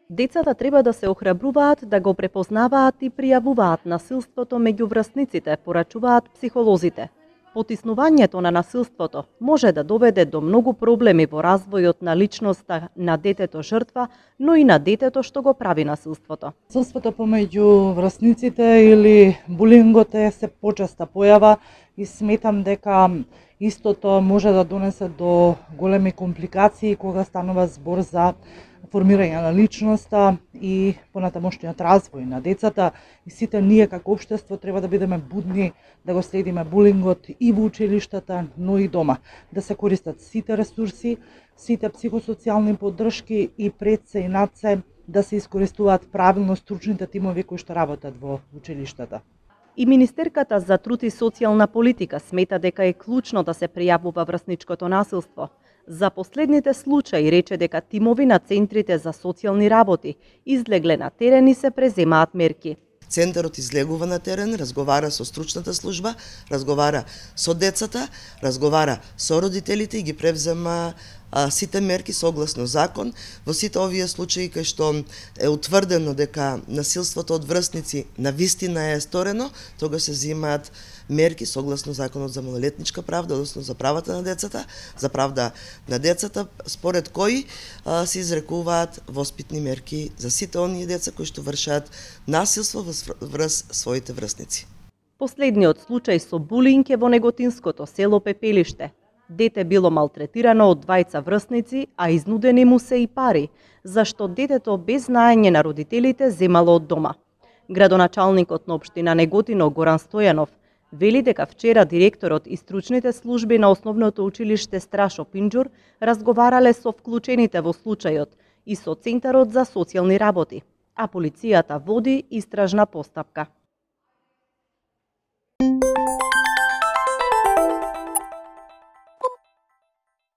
Децата треба да се охрабруваат да го препознаваат и пријавуваат насилството меѓу врсниците, порачуваат психолозите. Потиснувањето на насилството може да доведе до многу проблеми во развојот на личноста на детето жртва, но и на детето што го прави насилството. Насилството помеѓу врсниците или булингот е се почеста појава и сметам дека истото може да донесе до големи компликации кога станува збор за формирање на личноста и понатамошниот развој на децата. И сите ние како општество треба да бидеме будни да го следиме булингот и во училиштата, но и дома. Да се користат сите ресурси, сите психосоцијални поддршки и пред се и над се да се искористуваат правилно стручните тимови кои што работат во училиштата. И Министерката за труд и социјална политика смета дека е клучно да се пријавува врсничкото насилство. За последните случаи рече дека тимови на центрите за социјални работи излегле на терен и се преземаат мерки. Центарот излегува на терен, разговара со стручната служба, разговара со децата, разговара со родителите и ги превзема сите мерки согласно закон. Во сите овие случаи кај што е утврдено дека насилството од врсници навистина е сторено, тога се взимаат мерки согласно законот за малолетничка правда, односно за правата на децата, за правда на децата, според кои се изрекуваат воспитни мерки за сите оние деца кои што вршат насилство врз своите врсници. Последниот случај со булинг е во неготинското село Пепелиште. Дете било малтретирано од двајца врсници, а изнудени му се и пари, зашто детето без знаење на родителите земало од дома. Градоначалникот на општина Неготино Горан Стојанов вели дека вчера директорот и стручните служби на основното училиште Страшо Пинџур разговарале со вклучените во случајот и со Центарот за социјални работи, а полицијата води истражна постапка.